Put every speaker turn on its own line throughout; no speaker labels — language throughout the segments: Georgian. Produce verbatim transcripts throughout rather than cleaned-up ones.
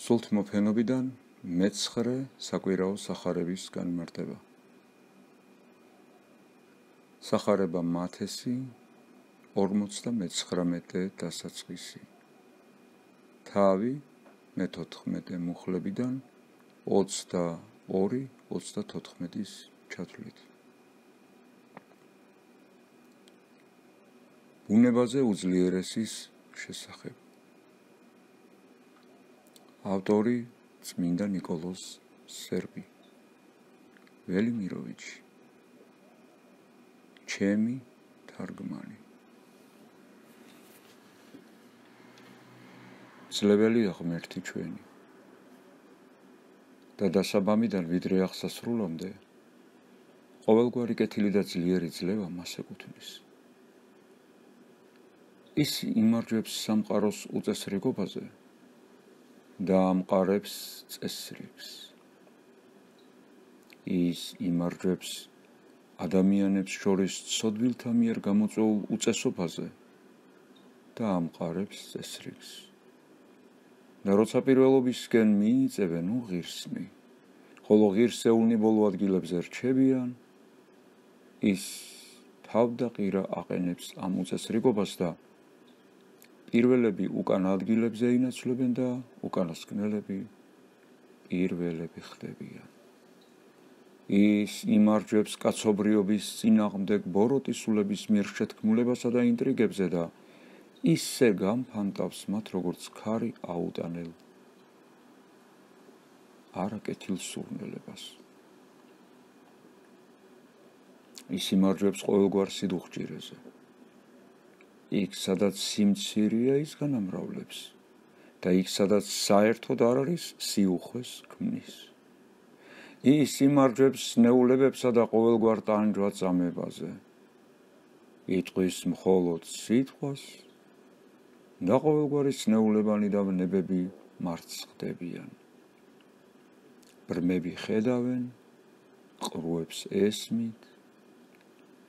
სულთმოფენობიდან მეცხრე საკვირაო სახარების განმარტება. სახარება მათესი ორმოცდამეცხრამეტე დასაწყისი. თავი მეთოთხმეტე მუხლებიდან ოცდაორი ოცდათოთხმეტის ჩათვლით. ბუნებაზე უძლიერესის შესახებ. ავტორი წმინდა ნიკოლოზ სერბი. ველიმიროვიჩი. ჩემი თარგმანი. ძლეველი აღმერთი ჩვენი და დასაბამიდან ვიდრე აღსასრულამდე ყოველგვარი კეთილი და ძლიერი ძლევა მას ეკუთვნის. ის იმარჯვებს სამყაროს უწესრიგობაზე და ამყარებს წესრიგს. ის იმარჯვებს ადამიანებს შორის ცოდვილთა მიერ გამოწვეულ უწესობაზე და ამყარებს წესრიგს. და როცა პირველობისკენ მიიწევენ უღირსნი, ხოლო ღირსეულნი ბოლო ადგილებზე რჩებიან, ის თავდაყირა აყენებს ამ უწესრიგობას და პირველები უკან ადგილებზე ინაცვლებენ და უკანასკნელები პირველები ხდებიან. ის იმარჯვებს კაცობრიობის წინააღმდეგ ბოროტისულების მიერ შეთქმულებასა და ინტრიგებზე და ისე გამფანტავს მათ, როგორც ქარი აუტანელ არაკეთილ სურნელებას. ის იმარჯვებს ყოველგვარ სიდუხჭირეზე. იქ, სადაც სიმცირეა, ის განამრავლებს და იქ, სადაც საერთოდ არ არის, სიუხვეს ქმნის. ის იმარჯვებს ნეულებებსა და ყოველგვარ ტანჯვა-წამებაზე. იტყვის მხოლოდ სიტყვას და ყოველგვარი ცნეულებანი და ვნებები მარცხდებიან. ბრმები ხედავენ, ყრუებს ესმით,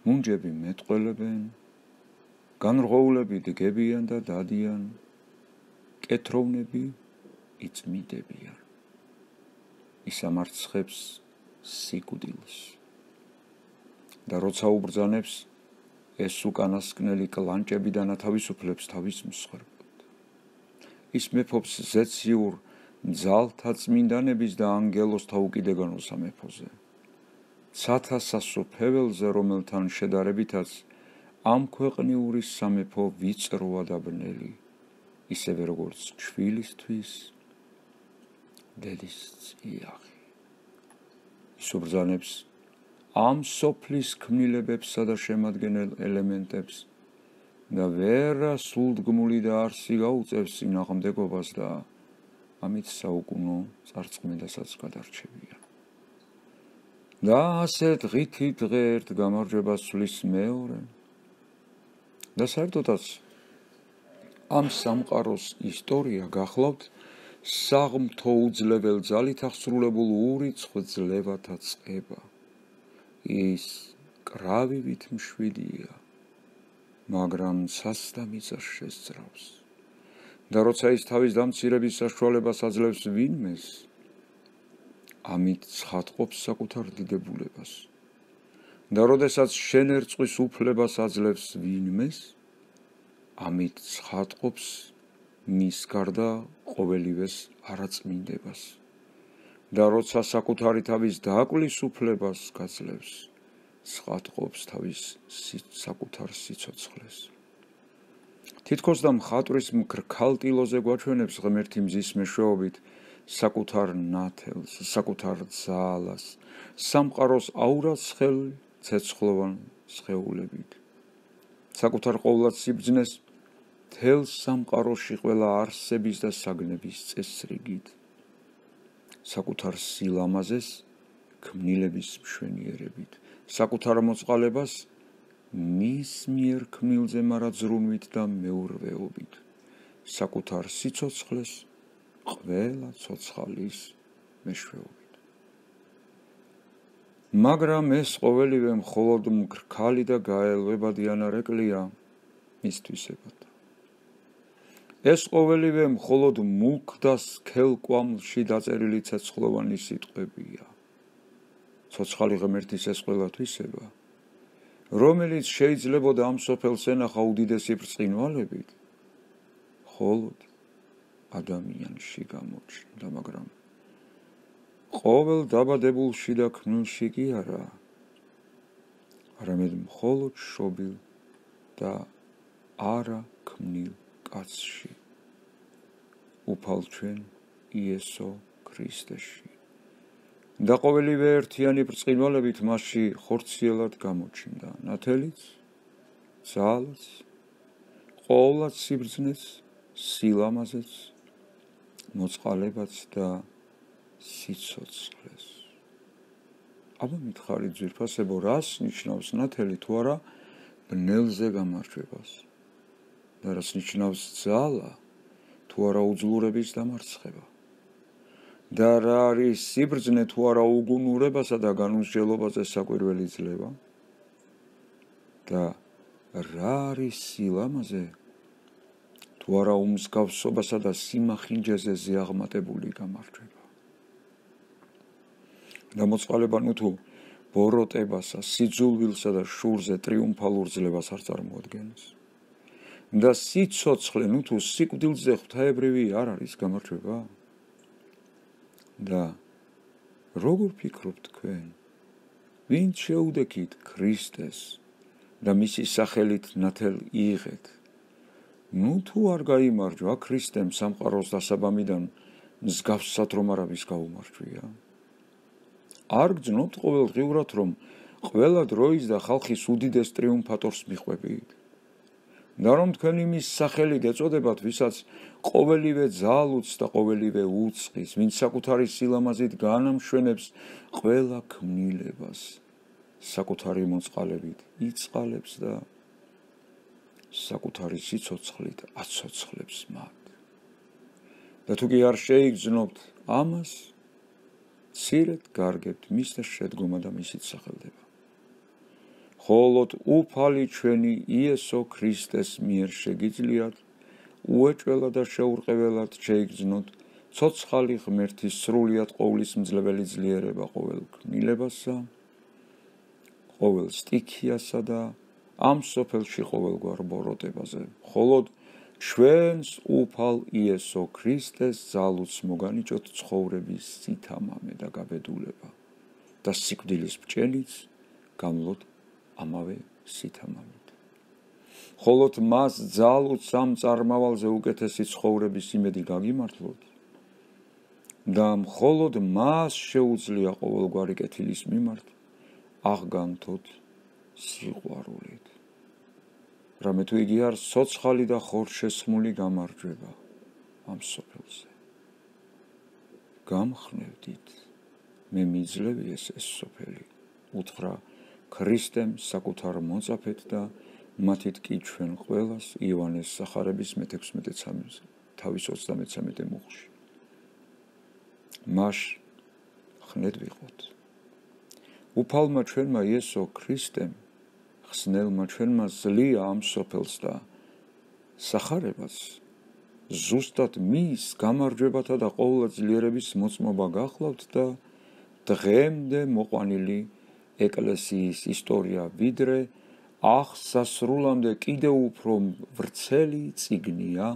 მუნჯები მეტყველებენ, განრღოულები დგებიან და დადიან, კეთროვნები იწმიდებიან. ის ამარცხებს სიკვდილს და როცა უბრძანებს, ეს უკანასკნელი კლანჭებიდან ათავისუფლებს თავის მსხვერპლად. ის მეფობს ზეციურ ძალთა წმინდანების და ანგელოზთა უკიდეგანო სამეფოზე. ცათა სასუფეველზე, რომელთან შედარებითაც ამ ქვეყნიური სამეფო ვიწროა და ბნელი, ისევე როგორც ჩვილისთვის დედის წიაღი. ის უბრძანებს ამ სოფლის ქმნილებებსა და შემადგენელ ელემენტებს და ვერა სულდგმული და არსი გაუწევს წინააღმდეგობას და ამით საუკუნო წარწმენდასაც გადარჩებიან. და ასე დღითი დღე ერთ გამარჯვებას სვლის მეორე და საერთოდაც ამ სამყაროს ისტორია გახლავთ საღმთო უძლებელ ძალით აღსრულებულ ურიცხ ძლევათა წყება. ის კრავივით მშვიდია, მაგრამ ცას და მიწას შესძრავს. და როცა ის თავის დამცირების საშუალებას აძლევს ვინმეს, ამით ცხადყოფს საკუთარ დიდებულებას. და როდესაც შენერწყვის უფლებას აძლევს ვინმეს, ამით ცხადყოფს მის გარდა ყოველივეს არაწმინდებას. და როცა საკუთარი თავის დაკვლის უფლებას გაძლევს, ცხადყოფს თავის საკუთარ სიცოცხლეს. თითქოს და მხატვრის მქრქალტილოზე გვაჩვენებს ღმერთი მზის მეშვეობით საკუთარ ნათელს, საკუთარ ძალას, სამყაროს აურაცხელ ცეცხლოვან სხეულებით. საკუთარ ყოვლად სიბრძნეს მთელ სამყაროში ყველა არსების და საგნების წესრიგით. საკუთარ სილამაზეს ქმნილების მშვენიერებით, საკუთარ მოწყალებას მის მიერ ქმნილზე მარაძრუნვით და მეურვეობით, საკუთარ სიცოცხლეს ყველა ცოცხალის მეშვეობით. მაგრამ ეს ყოველივე მხოლოდ მკრქალი და გაელვებადი ანარეკლია მისთვისებად. ეს ყოველივე მხოლოდ მუქ და სქელ კვამლში დაწერილი ცეცხლოვანი სიტყვებია. ცოცხალი ღმერთის ეს ყველა თვისება, რომელიც შეიძლებოდა ამ სოფელს ენახა უდიდესი ბრწყინვალებით, მხოლოდ ადამიანში გამოჩნდა, მაგრამ ყოველ დაბადებულში და ქმნილში კი არა, არამედ მხოლოდ შობილ და არა ქმნილ კაცში, უფალ ჩვენ იესო ქრისტეში. და ყოველივე ერთიანი ბრწყინვალებით მასში ხორციელად გამოჩნდა, ნათელიც, ძალაც, ყოვლად სიბრძნეც, სილამაზეც, მოწყალებაც და სიცოცხლეს. აბა მითხარით ძვირფასებო, რას ნიშნავს ნათელი თუ არა ბნელზე გამარჯვებას და რას ნიშნავს ძალა თუ არა უძლურების დამარცხება და რა არის სიბრძნე თუ არა უგუნურებასა და განუსჯელობაზე საკვირველი ძლევა და რა არის სილამაზე თუ არა უმსგავსობასა და სიმახინჯეზე ზეაღმატებული გამარჯვება. და მოწყალება ნუ თუ ბოროტებასა, სიძულვილსა და შურზე ტრიუმფალურ ძლებას არ წარმოადგენს. და სიცოცხლე ნუ თუ სიკვდილზე ღვთაებრივი არ არის გამარჯვება. და როგორ ფიქრობთ თქვენ, ვინ შეუდექით ქრისტეს და მისი სახელით ნათელ იღეთ? ნუ თუ არ გაიმარჯვა ქრისტემ სამყაროს დასაბამიდან მსგავსად რომ არავის გაუმარჯვია. არ გძნობთ ყოველდღიურად რომ ყველა დროის და ხალხის უდიდეს ტრიუმფატორს მიყვებით და რომ თქვენ იმის სახელით ეწოდებათ, ვისაც ყოველივე ძალუც და ყოველივე უწყის, ვინც საკუთარი სილამაზით განამშვენებს ყველა ქმნილებას, საკუთარი მოწყალებით იწყალებს და საკუთარი სიცოცხლით აცოცხლებს მათ. და თუ კი არ შეიგრძნობთ ამას, მცირედ გარგებთ მის და შედგომა და მისით სახელდება. მხოლოდ უფალი ჩვენი იესო ქრისტეს მიერ შეგიძლიათ უეჭველად და შეურყეველად შეიგრძნოთ ცოცხალი ღმერთის სრულიად ყოვლისმძლებელი ძლიერება ყოველ ქმნილებასა, ყოველ სტიქიასა და ამ სოფელში ყოველგვარ ბოროტებაზე. მხოლოდ ჩვენს უფალ იესო ქრისტეს ძალუც მოგანიჭოთ ცხოვრების სითამამე და გაბედულება და სიკვდილის ბჭენიც გამლოთ ამავე სითამამით. მხოლოდ მას ძალუც ამ წარმავალზე უკეთესი ცხოვრების იმედი გაგიმართლოთ და მხოლოდ მას შეუძლია ყოველგვარი კეთილის მიმართ აღგანთოთ სიყვარულით. რამე თუ იგი არ სოცხალი და ხორშესხმული გამარჯვება ამ სოფელზე. გამხნევდით, მე მიძლევი ეს ეს სოფელი, უთხრა ქრისტემ საკუთარ მოწაფეთ და მათით კი ჩვენ ყველას იოანეს სახარების მეთექვსმეტე წამს თავის ოცდამეცამეტე მუხლში. მას ხნედ ვიყოთ. უფალმა ჩვენმა იესო ქრისტემ ხსნელმა ჩვენმა ზლია ამ სოფელს და სახარებას ზუსტად მის გამარჯვებათა და ყოვლა ძლიერების მოწმობა გახლავთ და დღემდე მოყვანილი ეკლესიის ისტორია ვიდრე აღსასრულამდე კიდევ უფრო ვრცელი წიგნია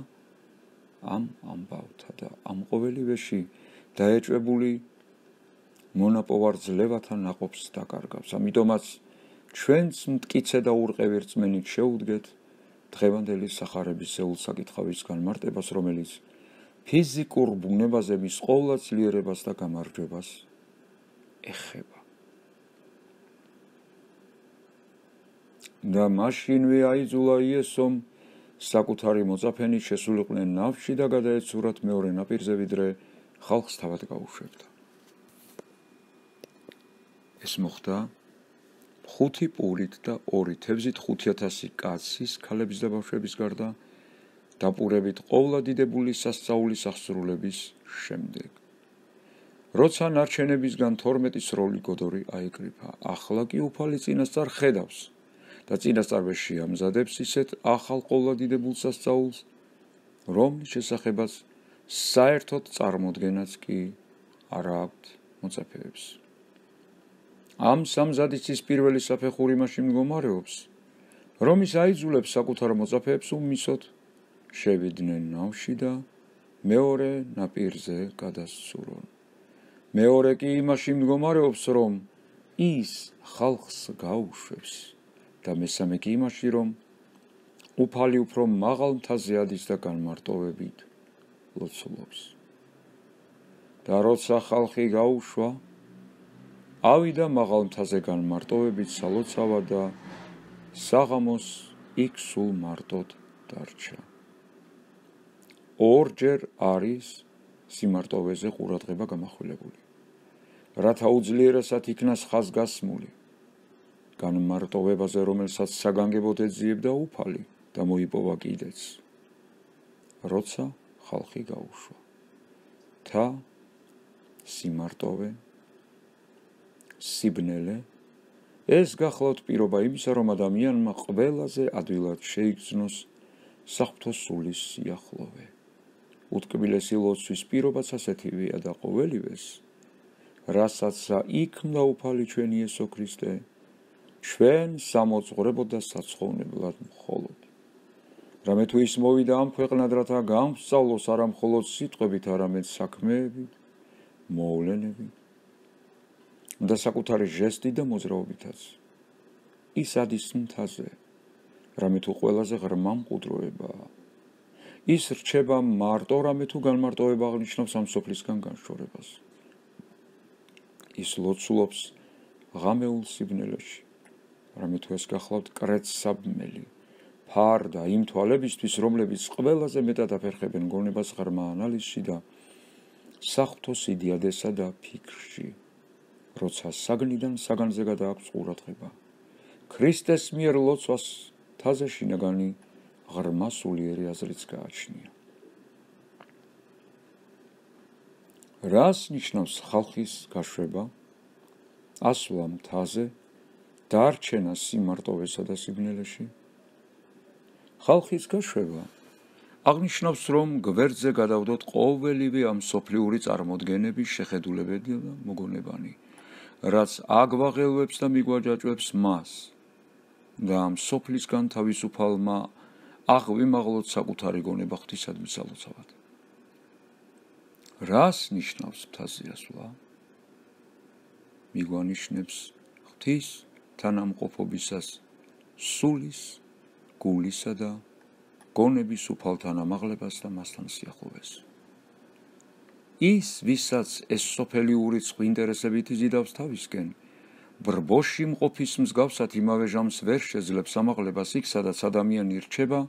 ამ ამბავთა და ამ ყოველივეში დაეჭვებული მონაპოვარ ძლევათა ნაყოფს დაკარგავს. ამიტომაც ჩვენც მტკიცე და ურყევი რწმენით შეუდგეთ დღევანდელი სახარების ზეულსაკითხავის განმარტებას, რომელიც ფიზიკურ ბუნებაზე მის ყოვლა ძლიერებას და გამარჯვებას ეხება. და მაშინვე აიძულა იესომ საკუთარი მოწაფენი შესულიყვნენ ნავში და გადაეცურათ მეორე ნაპირზე, ვიდრე ხალხს თავად გაუშვებდა. ეს მოხდა ხუთი პურით და ორი თევზით ხუთი ათასი კაცის, ქალების და ბავშვების გარდა დაპურებით ყოვლა დიდებული სასწაულის აღსრულების შემდეგ. როცა ნარჩენებისგან თორმეტი სროლი გოდორი აიკრიფა, ახლა კი უფალი წინასწარ ხედავს და წინასწარვე შეამზადებს ისეთ ახალ ყოვლა დიდებულ სასწაულს, რომლის შესახებაც საერთოდ წარმოდგენაც კი არ აქვთ მოწაფეებს. ამ სამზადისის პირველი საფეხური მაშინ მდგომარეობს, რომ ის აიძულებს საკუთარ მოწაფეებს უმისოდ შევიდნენ ნავში და მეორე ნაპირზე გადასცურონ. მეორე კი იმაში მდგომარეობს, რომ ის ხალხს გაუშვებს და მესამე კი იმაში, რომ უფალი უფრო მაღალ მთაზე ადის და განმარტოვებით ლოცულობს. და როცა ხალხი გაუშვა, ავიდა მაღალ მთაზე განმარტოვებით სალოცავად და საღამოს იქ სულ მარტოდ დარჩა. ორჯერ არის სიმარტოვეზე ყურადღება გამახვილებული, რათა უძლიერესად იქნას ხაზგასმული განმარტოვებაზე, რომელსაც საგანგებოდ ეძიებდა უფალი და მოიპოვა კიდეც, როცა ხალხი გაუშვა. თა, სიმარტოვე, სიბნელე, ეს გახლავთ პირობა იმისა, რომ ადამიანმა ყველაზე ადვილად შეიგრძნოს საღვთო სულის სიახლოვე. უტკბილესი ლოცვის პირობაც ასეთივეა და ყოველივეს, რასაც იქმნა უფალი ჩვენი იესო ქრისტე, ჩვენ სამოძღვრებოდ და საცხოვნებლად მხოლოდ. რამე თუ ის მოვიდა ამ ქვეყნად, რათა გამსწავლოს არა მხოლოდ სიტყვებით, არამედ საქმეებით, მოვლენებით და საკუთარი ჟესტით და მოძრაობითაც. ის ადის მთაზე, რამე თუ ყველაზე ღრმა მყუდროებაა. ის რჩება მარტო, რამე თუ განმარტოვება აღნიშნავს ამ სოფლისგან განშორებას. ის ლოცულობს ღამეულ სიბნელეში, რამე თუ ეს გახლავთ კრეცსაბმელი, ფარდა იმ თვალებისთვის, რომლებიც ყველაზე მეტად აფერხებენ გონებას ღრმა ანალიზში და საღვთო სიდიადესა და ფიქრში, როცა საგნიდან საგანზე გადააქვს ყურადღება. ქრისტეს მიერ ლოცვას მთაზე შინაგანი ღრმა სულიერი აზრიც გააჩნია. რას ნიშნავს ხალხის გაშვება, ასვლა მთაზე, დარჩენა სიმარტოვესა და სიბნელეში? ხალხის გაშვება აღნიშნავს, რომ გვერდზე გადავდოთ ყოველივე ამ სოფლიური წარმოდგენების შეხედულებები და მოგონებანი, რაც აგვაღელვებს და მიგვაჯაჭვებს მას და ამ სოფლისგან თავისუფალმა აღვიმაღლოთ საკუთარი გონება ღვთისადმი სალოცავად. რას ნიშნავს მთაზე ასვლა? მიგვანიშნებს ღვთის თანამყოფობისას სულის, გულისა და გონების უფალთან ამაღლებას და მასთან სიახლოვეს. ის, ვისაც ეს სოფელი ურიცხ ინტერესებით იზიდავს თავისკენ, ბრბოში მყოფის მსგავსად იმავე ჟამს ვერ შეძლებს ამაღლებას იქ, სადაც ადამიანი რჩება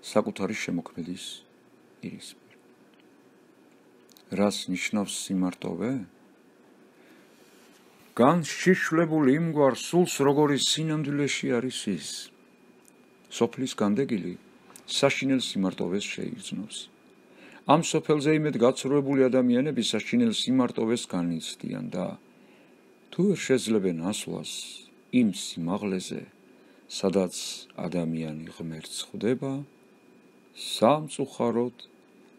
საკუთარი შემოქმედის პირისპირ. რას ნიშნავს სიმარტოვე? განშიშვლებული იმგვარ სულს, როგორი სინამდვილეში არის ის. სოფლის განდეგილი საშინელ სიმარტოვეს შეიგრძნობს. ამ სოფელზე იმედ გაცრუებული ადამიანები საშინელ სიმარტოვეს განიცდიან და თუ ვერ შეძლებენ ასვლას იმ სიმაღლეზე, სადაც ადამიანი ღმერთს ხვდება, სამწუხაროდ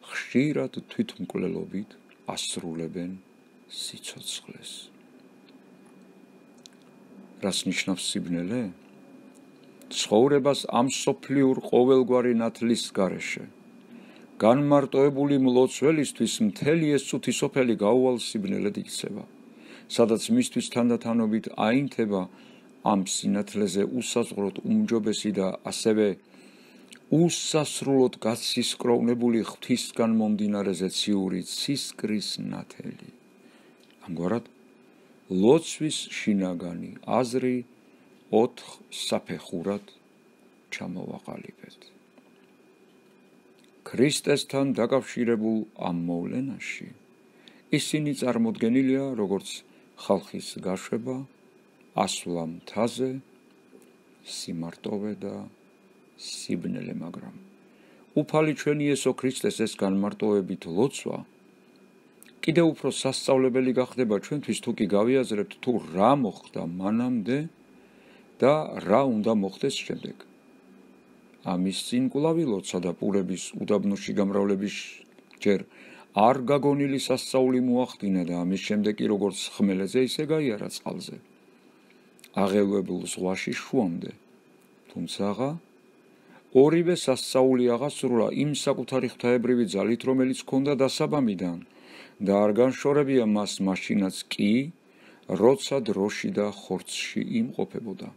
ხშირად თვითმკვლელობით ასრულებენ სიცოცხლეს. რას ნიშნავს სიბნელე? ცხოვრებას ამ სოფლიურ ყოველგვარი ნათლის გარეშე. განმარტოებული მლოცველისთვის მთელი ეს წუთი სოფელი გაუვალ სიბნელედ იქცევა, სადაც მისთვის თანდათანობით აინთება ამ სინათლეზე უსაზღვროდ უმჯობესი და ასევე უსასრულოდ გაცისკროვნებული ღვთისგან მომდინარეზე ციური ცისკრის ნათელი. ამგვარად, ლოცვის შინაგანი აზრი ოთხ საფეხურად ჩამოვაყალიბეთ. ქრისტესთან დაკავშირებულ ამ მოვლენაში ისინი წარმოდგენილია როგორც ხალხის გაშვება, ასვლა მთაზე, სიმარტოვე და სიბნელე, მაგრამ უფალი ჩვენი იესო ქრისტეს ეს განმარტოვებით ლოცვა კიდევ უფრო სასწავლებელი გახდება ჩვენთვის, თუ კი გავიაზრებთ თუ რა მოხდა მანამდე და რა უნდა მოხდეს შემდეგ. ამის წინ კვლავი ლოცვა და პურების უდაბნოში გამრავლების ჯერ არ გაგონილი სასწაული მოახდინა და ამის შემდეგ კი როგორც ხმელეთზე ისე გაიარა წყალზე აღელვებულ ზღვაში შუამდე თუმცა ორივე სასწაული აღასრულა იმ საკუთარი ღვთაებრივი ძალით რომელიც ჰქონდა დასაბამიდან და არ განშორებია მას მაშინაც კი როცა დროში და ხორცში იმყოფებოდა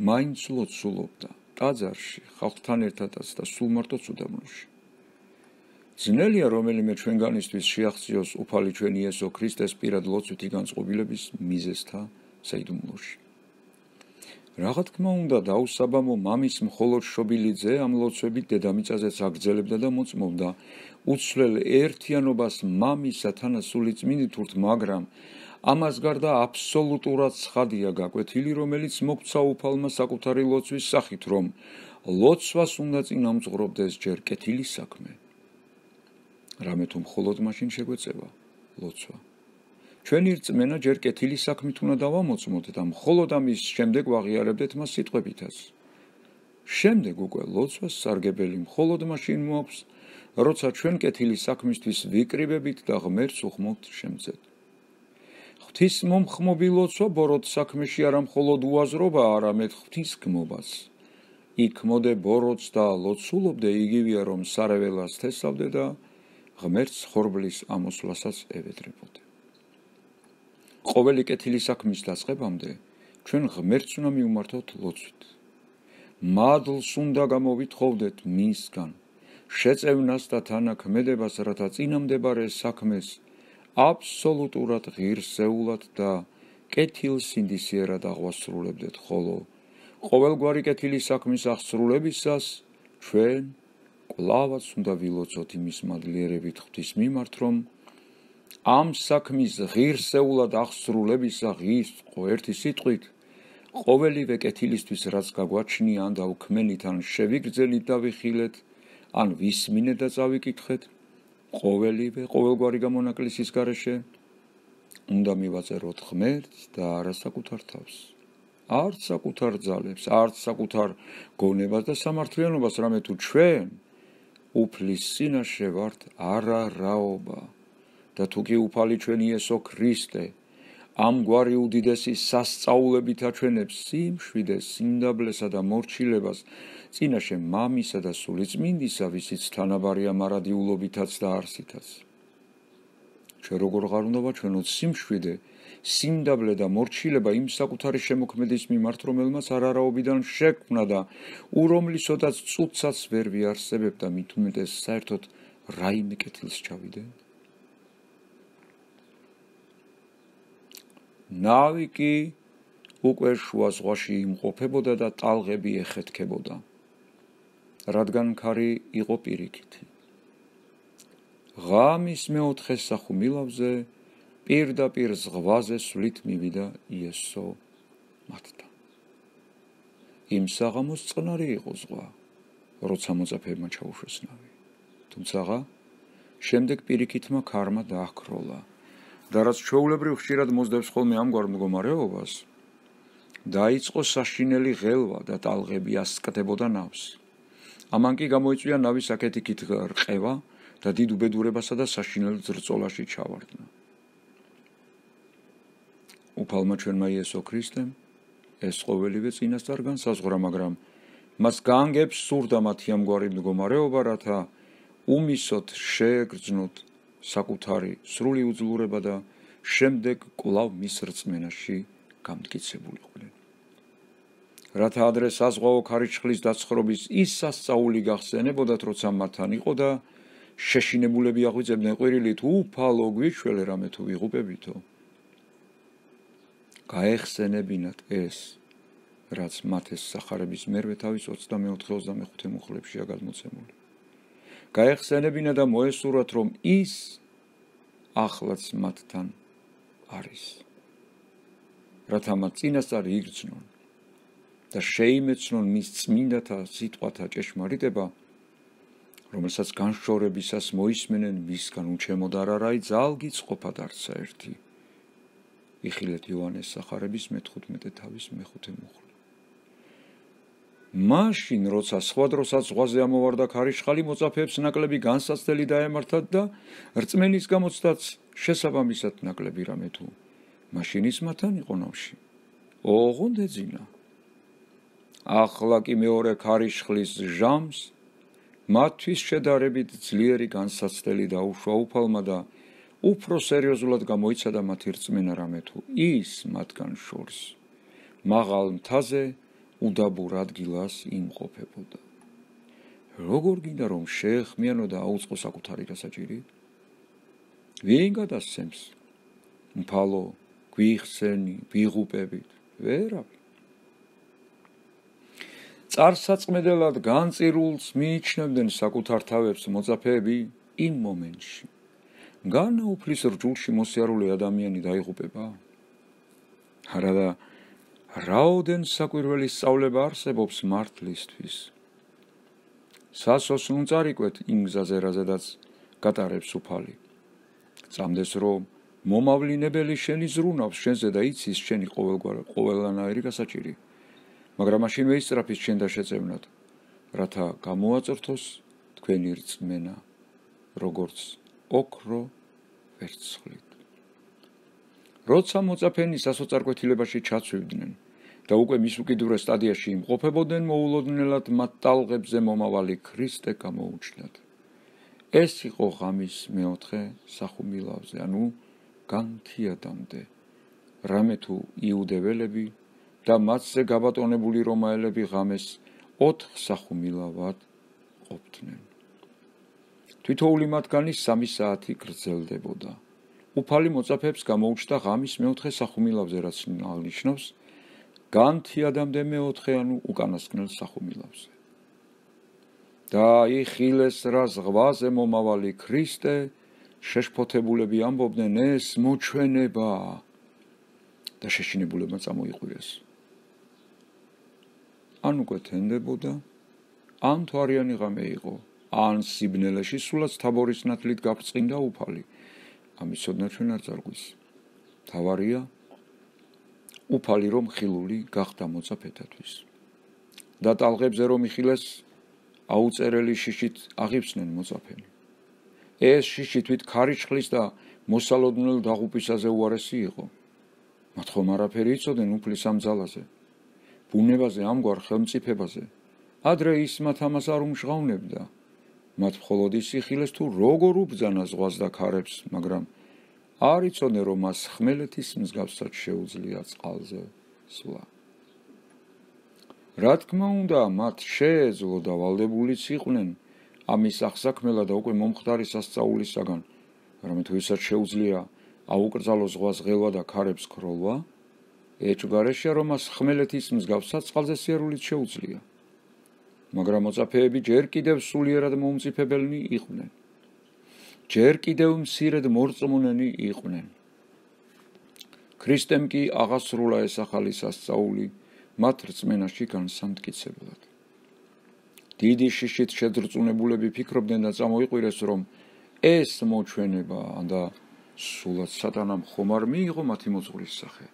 მაინც ლოცულობდა ტაძარში ხალხთან ერთადაც და სულ მარტოც უდაბნოში ძნელია რომელიმე ჩვენგანისთვის შეაღწიოს უფალი ჩვენი იესო ქრისტეს პირად ლოცვითი განწყობილების მიზეზთა საიდუმლოში რა თქმა უნდა დაუსაბამო მამის მხოლოდ შობილი ძე ამ ლოცვებით დედამიწაზეც აგრძელებდა და მოწმობდა უცვლელ ერთიანობას მამისა თანასული წმინდით მაგრამ ამას გარდა აბსოლუტურად ცხადია გაკვეთილი რომელიც მოგვცა უფალმა საკუთარი ლოცვის სახით რომ ლოცვას უნდა წინამძღვრობდეს ჯერ კეთილი საქმე რამე თუ მხოლოდ მაშინ შეგვეწევა ლოცვა ჩვენი რწმენა ჯერ კეთილი საქმით უნდა დავამოწმოთ და მხოლოდ ამის შემდეგ ვაღიარებდეთ მას სიტყვებითაც შემდეგ უკვე ლოცვას სარგებელი მხოლოდ მაშინ მოაქვს როცა ჩვენ კეთილი საქმისთვის ვიკრიბებით და ღმერთს უხმობთ შემწედ ღვთის მომხმობი ლოცვა ბოროტ საქმეში არა მხოლოდ უაზრობა არამედ ღვთის გმობას იქ მოდე ბოროტს და ლოცულობდე იგივეა რომ სარეველას თესავდე და ღმერთს ხორბლის ამოსვლასაც ევედრებოდე ყოველი კეთილი საქმის დაწყებამდე ჩვენ ღმერთს უნდა მივმართოთ ლოცვით მადლს უნდა გამოვითხოვდეთ მისგან შეწევნას და თანაქმედებას რათა წინამდებარე საქმეს აბსოლუტურად ღირსეულად და კეთილ სინდისიერად აღვასრულებდეთ ხოლო ყოველგვარი კეთილი საქმის აღსრულებისას ჩვენ კვლავაც უნდა ვილოცოთ იმის მადლიერებით ღვთის მიმართ რომ ამ საქმის ღირსეულად აღსრულებისა ღირსწყო ერთი სიტყვით ყოველივე კეთილისთვის რაც გაგვაჩნია ან დავქმენით ან შევიგრძელით და ვიხილეთ ან ვისმინეთ და წავიკითხეთ ყოველივე ყოველგვარი გამონაკლისის გარეშე უნდა მივაწეროთ ღმერთს და არა საკუთარ თავს არც საკუთარ ძალებს არც საკუთარ გონებას და სამართლიანობას რამე თუ ჩვენ უფლის წინაშე ვართ არა რაობა და თუ კი უფალი ჩვენი იესო ქრისტე ამგვარი უდიდესი სასწაულებით აჩვენებს სიმშვიდეს, სიმდაბლესა და მორჩილებას წინაშე მამისა და სულიწმინდისა, ვისიც თანაბარია მარადიულობითაც და არსითაც. ჩვენ როგორ ღარ უნდა ვაჩვენოთ სიმშვიდე, სიმდაბლე და მორჩილება იმ საკუთარი შემოქმედის მიმართ, რომელმაც არარაობიდან შექმნა და ურომლისოდაც წუთსაც ვერ ვიარსებებდა, მით უმეტეს საერთოდ რაიმე კეთილს ჩავიდე. ნავი კი უკვე შუა ზღვაში იმყოფებოდა და ტალღები ეხეთქებოდა, რადგან ქარი იყო პირიქითი. ღამის მეოთხე სახუმილავზე პირდაპირ ზღვაზე სვლით მივიდა იესო მათთან. იმ საღამოს წყნარი იყო ზღვა, როცა მოწაფეებმა ჩაუშვეს ნავი. თუმცა შემდეგ პირიქითმა ქარმა დააქროლა. და რაც ჩვეულებრივ ხშირად მოსდევს ხოლმე ამგვარ მდგომარეობას, დაიწყო საშინელი ღელვა და ტალღები ასკდებოდა ნავს. ამან კი გამოიწვია ნავის აქეთ-იქით რყევა და დიდ უბედურებასა და საშინელ ძრწოლაში ჩავარდნა. უფალმა ჩვენმა იესო ქრისტემ ეს ყოველივე წინასწარ განსაზღვრა, მაგრამ მას გაანგებს სურდა მათი ამგვარი მდგომარეობა, რათა უმისოდ შეეგრძნოთ საკუთარი სრული უძლურება და შემდეგ კვლავ მის რწმენაში გამტკიცებულიყვნენ. რათა ადრე საზღვაო ქარიშხლის დაცხრობის ის სასწაული გახსენებოდათ, როცა მათთან იყო და შეშინებულები აღვიძებდნენ ყვირილით, უფალო გვიჩველე რამე თუ ვიღუპებითო. გაეხსენებინათ ეს, რაც მათეს სახარების მერვე თავის ოცდამეოთხე ოცდამეხუთე მუხლებშია გადმოცემული. გაეხსენებინა და მოესურვათ, რომ ის ახლაც მათთან არის. რათა მათ წინასწარ იგრძნონ და შეიმეცნონ მის წმინდათა სიტყვათა ჭეშმარიტება, რომელსაც განშორებისას მოისმენენ მისგან უჩემოდ არ არაი ძალგიც ყოფად არცა ერთი. იხილეთ იოანეს სახარების მეთხუთმეტე თავის მეხუთე მუხლი. მაშინ როცა სხვა დროსაც ზღვაზე ამოვარდა ქარიშხალი, მოწაფეებს ნაკლები განსაცდელი დაემართათ და რწმენის გამოცდაც შესაბამისად ნაკლები რამე თუ მაშინ ის მათთან იყო ნავში. ოღონდ ეძინა. ახლა კი მეორე ქარიშხლის ჟამს მათთვის შედარებით ძლიერი განსაცდელი დაუშვა უფალმა და უფრო სერიოზულად გამოიცადა მათი რწმენა რამე თუ ის მათგან შორს მაღალ მთაზე უდაბურ ადგილას იმყოფებოდა. როგორ გინდა რომ შეეხმიანო და აუწყო საკუთარი გასაჭირი? ვინ გადასცემს? მფალო, გვიხსენი, ვიღუპებით? ვერავინ. წარსაწმედელად განწირულს მიიჩნევდნენ საკუთარ თავებს მოწაფეები იმ მომენტში. განაუფლის რჯულში მოსიარულე ადამიანი დაიღუპება? არა და რაოდენ საკვირველი სწავლება არსებობს მართლისთვის. სასოსნო წარიკვეთ იმ გზაზე, რაზედაც გატარებს უფალი. წამდეს რომ მომავლინებელი შენი ზრუნავს შენზე და იცის შენი ყოველგვარი გასაჭირი. მაგრამ მაშინ ვეისწრაფის შენ და შეწევნად, რათა გამოაწორთოს თქვენი რწმენა, როგორც ოქრო ვერცხლით. როცა მოწაფენი სასოწარკვეთილებაში ჩაცვივდნენ და უკვე მის უკიდურეს სტადიაში იმყოფებოდნენ, მოულოდნელად მათ ტალღებზე მომავალი ქრისტე გამოუჩნდათ. ეს იყო ღამის მეოთხე სახუმილავზე, ანუ განთიადამდე. რამე თუ იუდეველები და მათზე გაბატონებული რომაელები ღამეს ოთხ სახუმილავად ყოფდნენ. თითოეული მათგანი სამი საათი გრძელდებოდა. უფალი მოწაფეებს გამოუჩნდა ღამის მეოთხე სახუმილავზე, რაც ნიშნავს განთიადამდე მეოთხე, ანუ უკანასკნელ სახუმილავზე. და იხილეს რა ზღვაზე მომავალი ქრისტე, შეშფოთებულები ამბობდნენ, ეს მოჩვენებაა და შეშინებულებმა წამოიყვირეს. ან უკვე თენდებოდა, ან თვარიანი ღამე იყო, ან სიბნელეში სულაც თაბორის ნათლით გაბრწყინდა უფალი. ამის ოდნავ ჩვენ არ წარგვის. თავარია უფალი რომ ხილული გახდა მოწაფეთათვის. და ტალღებზე რომ იხილეს, აუწერელი შიშით აღივსნენ მოწაფენი. ეს შიში თვით ქარიშხლის და მოსალოდნელ დაღუპვისაზე უარესი იყო. მათ ხომ არაფერი იცოდნენ უფლის ამ ძალაზე, ბუნებაზე, ამგვარ ხელმწიფებაზე. ადრე ის მათ ამას არ უმჟღავნებდა. მათ მხოლოდ ის იხილეს თუ როგორ უბრძანა ზღვას და ქარებს, მაგრამ არ იცოდნენ რომ მას ხმელეთის მსგავსად შეუძლია წყალზე სვლა. რა თქმა უნდა, მათ შეეძლო და ვალდებულიც იყვნენ ამის აღსაქმელად და უკვე მომხდარი სასწაულისაგან, რამე თუ ისაც შეუძლია აუკრძალო ზღვას ღელვა და ქარებს ქროლვა, ეჭვგარეშეა რომ მას ხმელეთის მსგავსად წყალზე სიარულით შეუძლია. მაგრამ მოწაფეები ჯერ კიდევ სულიერად მომწიფებელნი იყვნენ. ჯერ კიდევ მცირედ მორწმუნენი იყვნენ. ქრისტემ კი აღასრულა ეს ახალი სასწაული მათ რწმენაში განსამტკიცებლად. დიდი შიშით შედრწუნებულები ფიქრობდნენ და წამოიყვირეს, რომ ეს მოჩვენებაა და სულაც სატანამ ხომ არ მიიღო მათი მოძღვრის სახე.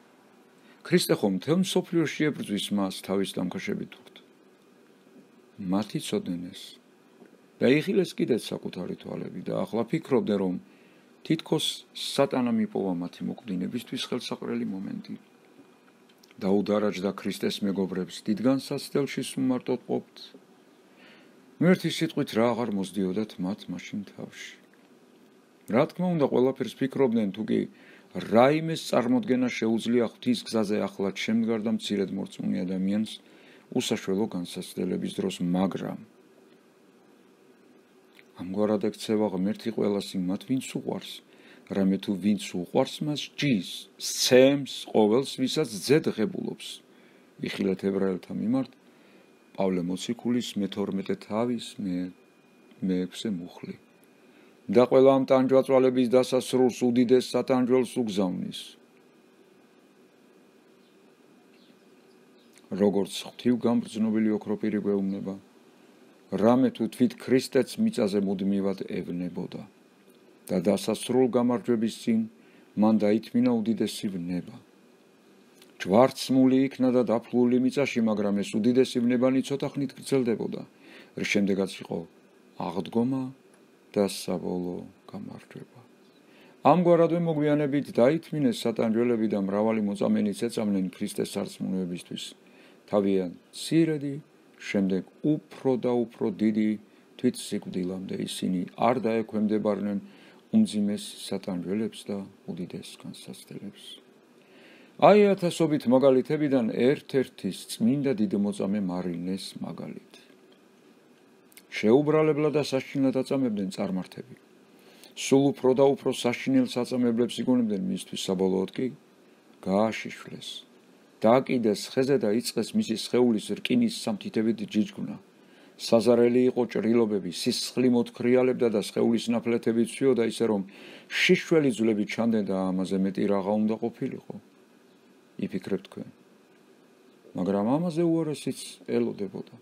ქრისტე ხომ მთელ მსოფლიოში ებრძვის მას თავის დამქაშებით თურთ. მათ იცოდნენ ეს და იხილეს კიდეც საკუთარი თვალები და ახლა ფიქრობდნენ, რომ თითქოს სატანამ იპოვა მათი მოკვდინებისთვის ხელსაყრელი მომენტი. დაუდარაჯდა ქრისტეს მეგობრებს, დიდ განსაცდელში სუმარტოდ ყოფთ. მერთი სიტყვით რა აღარ მოსდიოდათ მათ მაშინ თავში. რა თქმა უნდა, ყველაფერს ფიქრობდნენ, თუ კი რაიმეს წარმოდგენა შეუძლია ღვთის გზაზე ახლად შემდგარ და მცირედ მორწმუნე ადამიანს უსაშველო განსაცდელების დროს, მაგრამ ამგვარად ექცევა ღმერთი ყველას იმათ, ვინც უყვარს, რამე თუ ვინც უყვარს მას ჯის, სცემს ყოველს, ვისაც ძე ღებულობს. იხილეთ ებრაელთა მიმართ პავლე მოციქულის მეთორმეტე თავის მეექვსე მუხლი. და ყველა ამ ტანჯვაწვალების დასასრულს უდიდეს სატანჯველს უგზავნის. როგორც ღვთივ გამბრძნობილი ოქროპირი გვეუბნება, რამე თუ თვით ქრისტეც მიწაზე მუდმივად ევნებოდა და დასასრულ გამარჯვების წინ მან დაითმინა უდიდესი ვნება. ჯვარცმული იქნა და დაფლული მიწაში, მაგრამ ეს უდიდესი ბნებანი ცოტა ხნით გრძელდებოდა. რის შემდეგაც იყო აღდგომა და საბოლოო გამარჯვება. ამგვარადვე მოგვიანებით დაითმინეს სატანჯველები და მრავალი მოწამენიც ეწამნენ ქრისტეს სარწმუნოებისთვის. თავიანთ მცირედი, შემდეგ უფრო და უფრო დიდი თვითსიკვდილამდე ისინი არ დაექვემდებარნენ უმძიმეს სატანჯველებს და უდიდეს განსაცდელებს. აი ათასობით მაგალითებიდან ერთ-ერთის წმინდა დიდმოწამე მარინეს მაგალითი. შეუბრალებლად და საშინლად აწამებდნენ წარმართები. სულ უფრო და უფრო საშინელ საწამებლებს იგონებდნენ მისთვის, საბოლოოდ კი გააშიშვლეს. დააკიდეს ხეზე და იწყეს მისი სხეულის რკინის სამთითებით ჯიჯგුნა. საზარელი იყო ჭრილობები, სისხლი მოთხრიალებდა და სხეულის ნაფლეთები ცვიოდა ისე რომ შიშველი ძვლები ჩანდნენ და ამაზე მეტი რაღა უნდა ყოფილიყო. იფიქრებთ თქვენ. მაგრამ ამაზე უარესიც ელოდებოდა.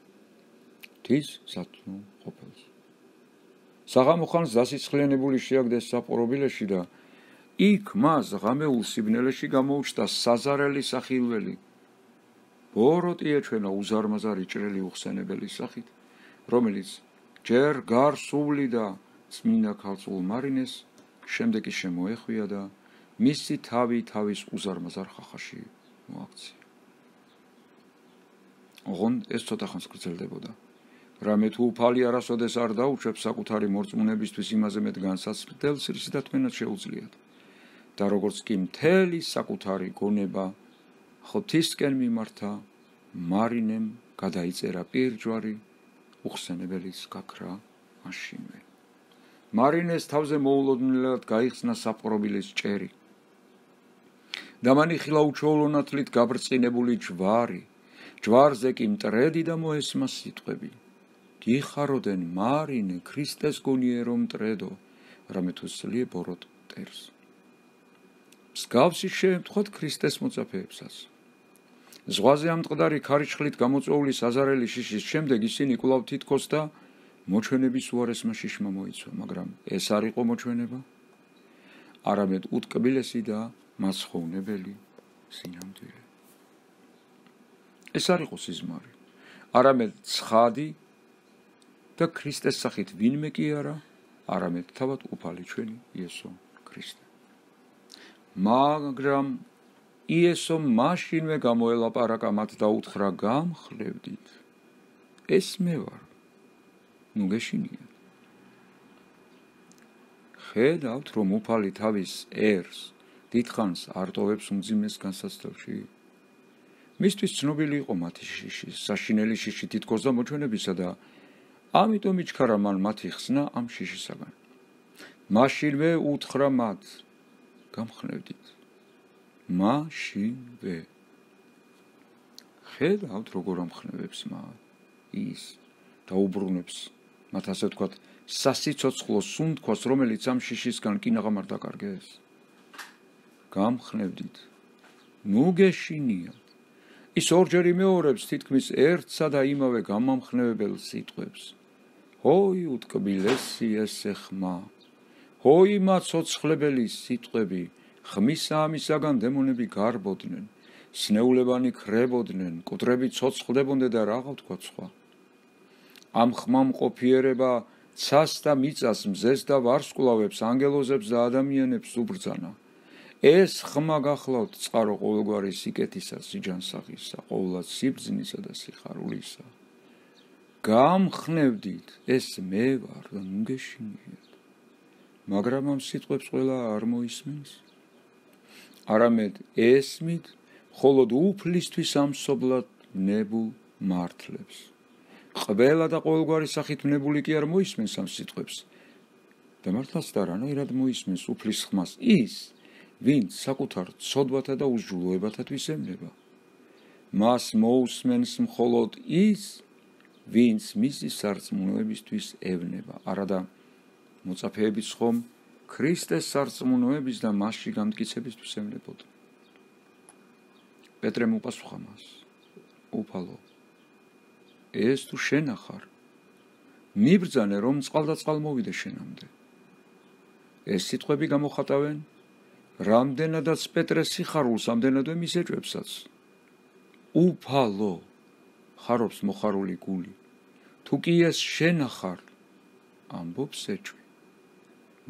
ღვთის სათნო ყოფილს. საღამო ხანს დასიცხლიანებული შეაგდეს საპყრობილეში და იქ მას ღამეულ სიბნელეში გამოუჩნდა საზარელი სახილველი. ბოროტი ეჩვენა უზარმაზარი ჭრელი უხსენებელი სახით, რომელიც ჯერ გარსული და წმინდა ქალწულ მარინეს, შემდეგ კი შემოეხვია და მისი თავი თავის უზარმაზარ ხახაში მოაქცია. ოღონდ ეს ცოტა ხანს გრძელდებოდა. რამე თუ უფალი არასოდეს არ დაუჩებს საკუთარი მორწმუნებისთვის იმაზე მეტ განსაცდელს, რის დათმენაც შეუძლიათ. და როგორც კი მთელი საკუთარი გონება ღვთისკენ მიმართა, მარინემ გადაიწერა პირჯვარი უხსენებელის გაქრა მაშინვე. მარინეს თავზე მოულოდნელად გაიხსნა საპყრობილის ჭერი. და მან იხილა უჩვეულონათლით გაბრწყინებული ჯვარი, ჯვარზე კი მტრედი და მოესმა სიტყვები. გიხაროდენ მარინე, ქრისტეს გონიე რომ მტრედო, რამე თუ სლიე ბოროტ მტერს. მსგავსი შეემთხვათ ქრისტეს მოწაფეებსაც. ზღვაზე ამ მწყდარი ქარიშხლით გამოწვეული საზარელი შიშის შემდეგ ისინი კვლავ თითქოს და მოჩვენების უარესმა შიშმა მოიცვა, მაგრამ ეს არ იყო მოჩვენება, არამედ უტკბილესი და მასხოვნებელი სინამდვილე. ეს არ იყო სიზმარი, არამედ ცხადი და ქრისტეს სახით ვინმე კი არა, არამედ თავად უფალი ჩვენი იესო ქრისტე. მაგრამ იესო მაშინვე გამოელაპარაკა მათ და უთხრა, გამხლევდით, ეს მე ვარ, ნუ გეშინიათ. ხედავთ, რომ უფალი თავის ერს დიდხანს არ ტოვებს უმძიმეს განსაცდელში. მისთვის ცნობილი იყო მათი შიში, საშინელი შიში თითქოს და მოჩვენებისა და ამიტომ იჩქარა მან მათი ხსნა ამ შიშისაგან. მაშინვე უთხრა მათ, გამხნევდით, მაშინვე. ხედავთ, როგორ ამხნევებს მათ ის და უბრუნებს მათ, ასე ვთქვათ, სასიცოცხლო სუნთქვას, რომელიც ამ შიშისგან კინაღამ არ დაკარგეს. გამხნევდით, ნუ გეშინიათ. ის ორჯერ იმეორებს თითქმის ერთსა და იმავე გამამხნევებელ სიტყვებს. ჰოი უტკბილესი ესე ხმა, ჰოი მაცოცხლებელი სიტყვები, ხმისა ამისაგან დემონები გარბოდნენ, სნეულებანი ქრებოდნენ, კუტრები ცოცხლდებონდე და რაღა ვთქვა სხვა. ამ ხმამ ყოფიერება ცას და მიწას, მზეს და ვარსკვლავებს, ანგელოზებს და ადამიანებს უბრძანა. ეს ხმა გახლავთ წყარო ყოველგვარი სიკეთისა, სიჯანსაღისა, ყოვლად სიბრძნისა და სიხარულისა. გამხნევდით, ეს მე ვარ და ნუ გეშინიათ. მაგრამ ამ სიტყვებს ყველა არ მოისმენს, არამედ ესმით, მხოლოდ უფლისთვის ამსობლად ნებულ მართლებს. ყველა და ყოველგვარი სახით ნებული კი არ მოისმენს ამ სიტყვებს. და მართლაც და რანაირად მოისმენს უფლის ხმას ის, ვინც საკუთარ ცოდვათა და უსჯულოებათათვის ემნება. მას მოусმენს მხოლოდ ის, ვინც მისი სარწმუნოებისთვის ევნება, არადა მოწაფეებიც ხომ ქრისტეს სარწმუნოების და მასში გამტკიცებისთვის ემნებოდა. პეტრემ უპასუხა მას, უფალო, ეს თუ შენ ახარ, მიბრძანე რომ წყალ და წყალ მოვიდე შენამდე. ეს სიტყვები გამოხატავენ, რამდენადაც პეტრეს სიხარულს, ამდენადვე მის ეჭვებსაც, უფალო ხარობს მოხარული გული თუ კი ეს შენ ხარ ამბობს ეჭვი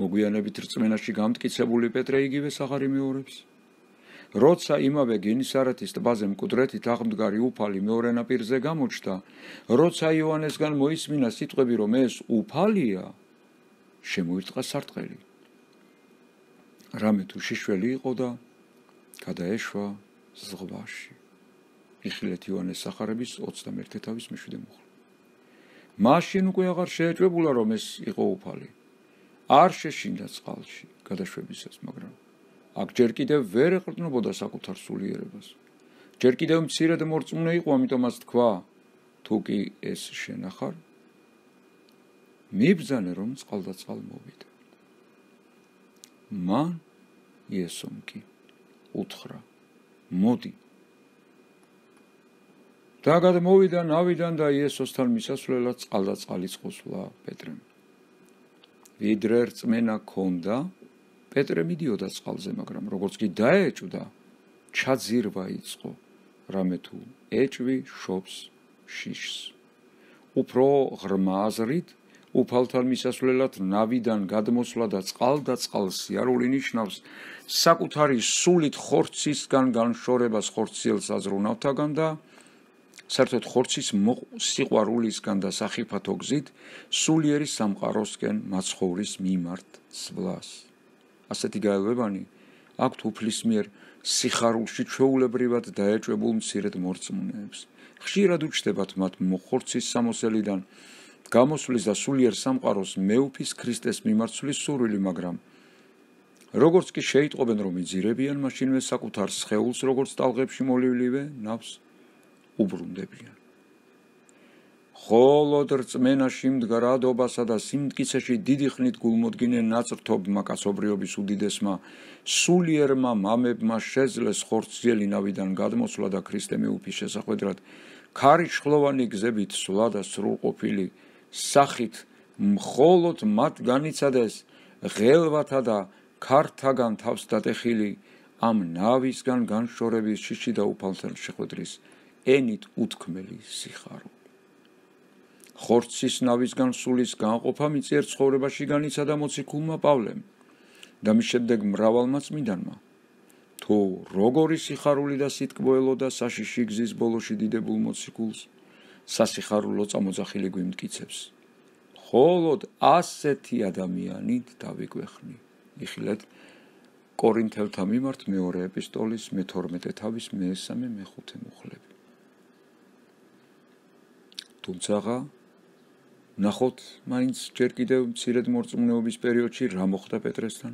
მოგვიანებით რწმენაში გამტკიცებული პეტრე იგივეს აღარ იმეორებს როცა იმავე გენისარეთის ტბაზე მკვდრეთით აღმდგარი უფალი მეორე ნაპირზე გამოჩნდა როცა იოანესგან მოისმინა სიტყვები რომ ეს უფალია შემოირტყა სარტყელი რამე თუ შიშველი იყო და გადაეშვა ზღვაში იხილეთ იოანეს სახარების ოცდამეერთე თავის მეშვიდე მუხლი მაშინ უკვე აღარ შეეჭვებულა რომ ეს იყო უფალი არ შეშინდა წყალში გადაშვებისას მაგრამ აქ ჯერ კიდევ ვერ ეყრდნობოდა საკუთარ სულიერებას ჯერ კიდევ მცირედ მორწმუნე იყო ამიტომაც თქვა თუ კი ეს შენ ხარ მიბრძანე რომ წყალ და წყალ მოვიდე მან იესომ კი უთხრა მოდი და გადმოვიდა ნავიდან და იესოსთან მისასვლელად წყალ და წყალის ყოსვლა პეტრემ ვიდრე რწმენა ქონდა პეტრე მიდიოდა წყალზე მაგრამ როგორც კი დაეჭვდა ჩაძირვა იწყო რამე თუ ეჭვი შობს შიშს უფრო ღრმა აზრით უფალთან მისასვლელად ნავიდან გადმოსვლა და წყალ და წყალს სიარული ნიშნავს საკუთარი სულით ხორცისგან განშორებას ხორციელს აზრუნავთაგან და საერთოდ ხორცის სიყვარულისგან და სახიფათო გზით სულიერი სამყაროსკენ მაცხოვრის მიმართ სვლას ასეთი გაელვებანი აქვთ უფლის მიერ სიხარულში ჩვეულებრივად დაეჭვებულ მცირედ მორწმუნეებს ხშირად უჩნდებათ მათ ხორცის სამოსელიდან გამოსვლის და სულიერ სამყაროს მეუფის ქრისტეს მიმარცვლის სურვილი მაგრამ როგორც კი შეიტყობენ რომ იძირებიან მაშინვე საკუთარ სხეულს როგორც ტალღებში მოლივლივე ნავს უბრუნდებიან ხოლოდ რწმენაში მდგარ ადობასა და სიმტკიცეში დიდი ხნით გულმოდგინე ნაწრთობმა კაცობრიობის უდიდესმა სულიერმა მამებმა შეძლეს ხორციელი ნავიდან გადმოსვლა და ქრისტე მეუფის შესახვედრად ქარიშხლოვანი გზებით სვლა და სრულყოფილი სახით მხოლოდ მათ განიცადეს ღელვათა და ქართაგან თავს დატეხილი ამ ნავისგან განშორების შიში და უფალთან შეხვედრის ენით უთქმელი სიხარული ხორცის ნავისგან სულის განყოფა მიწიერ ცხოვრებაში განიცადა მოციქულმა პავლემ და მის შემდეგ მრავალმა წმინდანმა თუ როგორი სიხარული და სიტკბოელო და საშიში გზის ბოლოში დიდებულ მოციქულს სასიხარულო წამოძახილი გვიმტკიცებს ხოლოდ ასეთი ადამიანით დავიგვეხნი იხილეთ კორინთელთა მიმართ მეორე ეპისტოლის მეთორმეტე თავის მესამე მეხუთე მუხლები თუმცა ნახოთ მაინც ჯერ კიდევ მცირედ მორწმუნეობის პერიოდში რა მოხდა პეტრესთან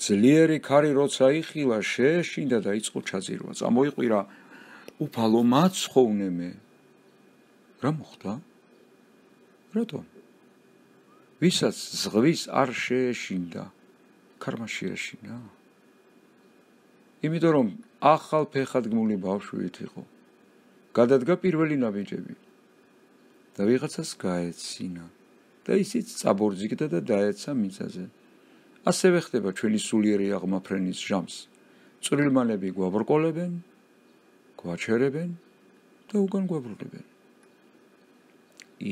ძლიერი ქარი როცა იხილა შეეშინდა და იწყო ჩაძირვა წამოიყვირა უფალო მაცხოვნე მე რა მოხდა რატომ ვისაც ზღვის არ შეეშინდა ქარმა შეეშინა იმიტომ რომ ახალ ფეხადგმული ბავშვით იყო გადადგა პირველი ნაბიჯები და ვიღაცას გაეცინა და ისიც წაბორძიგდა და დაეცა მიწაზე ასევე ხდება ჩვენი სულიერი აღმაფრენის ჟამს წვრილმანები გვაბრკოლებენ გვაჩერებენ და უგან გვაბრუნებენ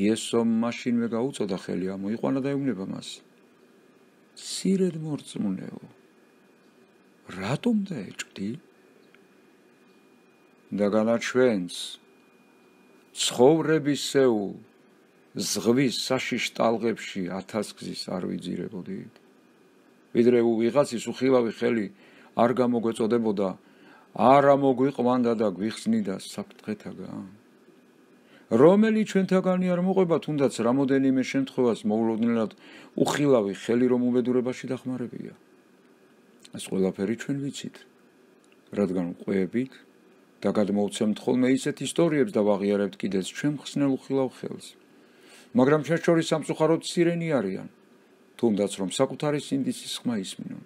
იესომ მაშინვე გაუწოდა ხელი ამოიყვანა და ეუბნება მას მცირედ მორწმუნეო რატომ დაეჭვდი და განაჩვენს ცხოვრებისეულ ზღვის საშიშ ტალღებში ათასგზის არ ვიძირებოდით ვიდრე ვიღაცის უხილავი ხელი არ გამოგვეწოდებოდა არა მოგვიყვანდა და გვიხსნიდა საფრთხეთაგან რომელი ჩვენთაგანი არ მოყვება თუნდაც რამოდენიმე შემთხვევას მოულოდნელად უხილავი ხელი რომ უბედურებაში დახმარებია ეს ყველაფერი ჩვენ ვიცით რადგან ყვებით და გადმოვცემთ ხოლმე ისეთ ისტორიებს და ვაღიარებთ კიდეც ჩვენ მხსნელ უხილავ ხელს მაგრამ ჩვენ შორის სამწუხაროდ მცირენი არიან თუნდაც რომ საკუთარი სინდისის ხმა ისმინონ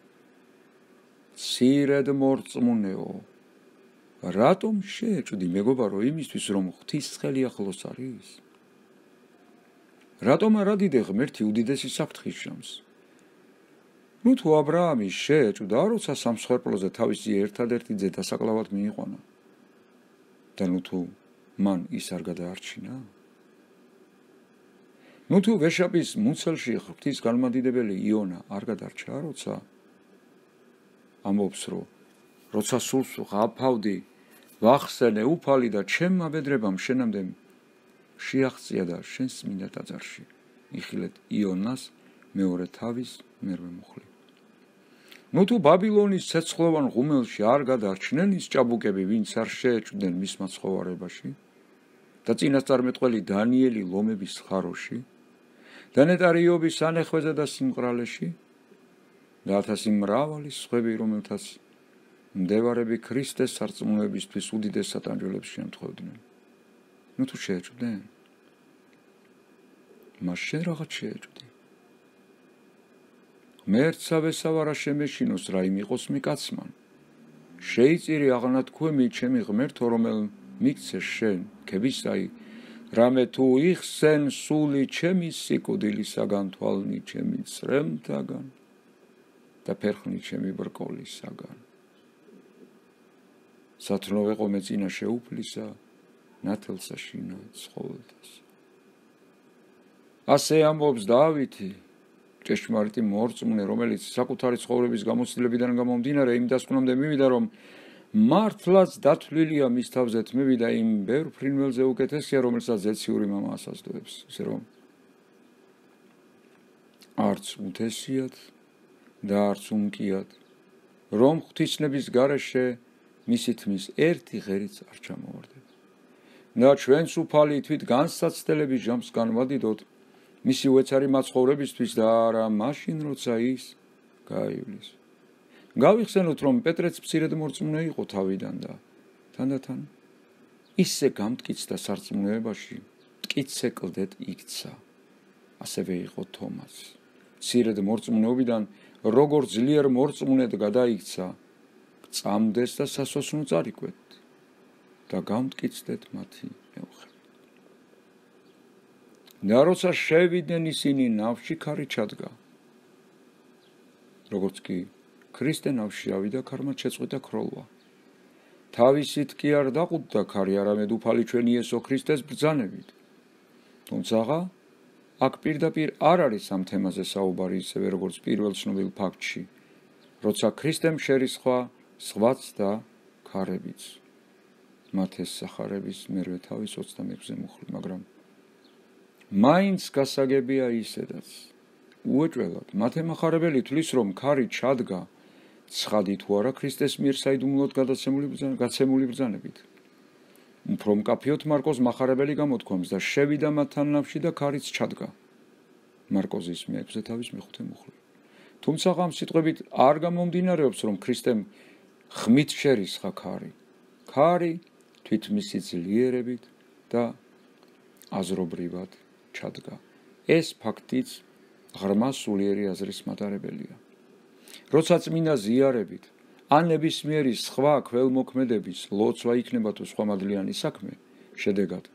მცირედ მორწმუნეო რატომ შეეჭვდი მეგობარო იმისთვის რომ ღვთისმსხელი ახლოს არის რატომ არ ადიდე ღმერთი უდიდესი საფრთხის ჟამს ნუ თუ ა ブラ ამი შეეჭვდა როცა სამსხვერპლოზე თავისი ერთადერთი ძე დასაკლავად მიიყვანა და ნუ თუ მან ის არ გადაარჩინა? ნუ თუ ვეშაპის მუცელში ღვთის განმადიდებელი იონა არ გადარჩა, როცა ამბობს, რომ როცა სულს ვღაფავდი, ვახსენე უფალი და ჩემმა ბედრებამ შენამდე შეაღწია და შენს წმინდა ტაძარში. იხილეთ იონას მეორე თავის მერვე მუხლი. ნუ თუ ბაბილონის ცეცხლოვან ღუმელში არ გადარჩნენ ის ჭაბუკები, ვინც არ შეეჭვდნენ მის მაცხოვარებაში და წინასწარმეტყველი დანიელი ლომების ხაროში და ნეტარი იობის სანეხვეზე და სიმყრალეში და ათასი მრავალი სხვები, რომელთაც მდევარები ქრისტეს სარწმუნოებისთვის უდიდეს სატანჯველებს შემთხვევდნენ. ნუ თუ შეეჭვდნენ, მას შენ რაღაც შეეჭვდი. მერცავე სავარა შემეშინოს რა იმ იყოს მიკაცმან. შეიწირი აღნათქვემი ჩემი ღმერთო, რომელ მიქცე შენ ქებისაი, რამე თუ იხსენ სული ჩემი სიკვდილისაგან, თვალნი ჩემი წრემთაგან და ფერხნი ჩემი ბრკოლისაგან. სათნო ვეყო მე წინა შეუფლისა, ნათელსა შინა ცხოველთას. ასე ამბობს დავითი, ჭეშმარიტი მორწმუნე, რომელიც საკუთარი ცხოვრების გამოცდილებიდან გამომდინარე იმ დასკვნამდე მივიდა, რომ მართლაც დათვლილია მის თავზე თმები და იმ ბევრ ფრინველზე უკეთესია, რომელსაც ზეციური მამა ასაზდოებს, ისე რომ არც უთესიათ და არც უმკიათ, რომ ღვთისნების გარეშე მისი თმის ერთი ღერიც არ ჩამოვარდება. და ჩვენც უფალი თვით განსაცდელების ჟამს განვადიდოთ მისი უეცარი მაცხოვრებისთვის და არა მაშინ, როცა ის გაივლის. გავიხსენოთ, რომ პეტრეც მცირედ მორწმუნე იყო თავიდან და თანდათან ისე გამტკიცდა სარწმუნოებაში, მტკიცე კლდეთ იქცა. ასევე იყო თომას. მცირედ მორწმუნეობიდან როგორ ძლიერ მორწმუნედ გადაიქცა, წამდეს და სასოსნო წარიკვეთ და გამტკიცდეთ მათი მეუღლე. და როცა შევიდნენ ისინი, ნავში ქარი ჩადგა. როგორც კი ქრისტე ნავში ავიდა, ქარმა შეწყვიტა ქროლვა. თავისით კი არ დაყუდდა ქარი, არამედ უფალი ჩვენ იესო ქრისტეს ბრძანებით. თუმცა აქ პირდაპირ არ არის ამ თემაზე საუბარი, ისევე როგორც პირველ ცნობილ ფაქტში, როცა ქრისტემ შერისხვა სხვაც და ქარებიც. მათეს სახარების მერვე თავის ოცდამექვსე მუხლი, მაგრამ მაინც გასაგებია ისედაც. უეჭველად მათე מחარებელი თვლის, რომ ქარი ჩადგა ცხადი თუ არა ქრისტეს მიერ საიდუმლოდ გაცემული ბრძანებით. უფრო მკაფიოდ მარკოზ מחარებელი გამოთქვამს და შევიდა მათთან ნავში და ქარიც ჩადგა. მარკოზის მეექვსე თავის მეხუთე მუხლი. თუმცა ამ სიტყვებით არ გამომდინარეობს, რომ ქრისტემ ხმით შერისხა ქარი. ქარი თვით მისი ძლიერებით და აზრობრივად ჩადგა. ეს ფაქტიც ღრმა სულიერი აზრის მატარებელია. როცა წმინდა ზიარებით ან ნებისმიერი სხვა ქველმოქმედების ლოცვა იქნება თუ სხვა მადლიანი საქმე, შედეგად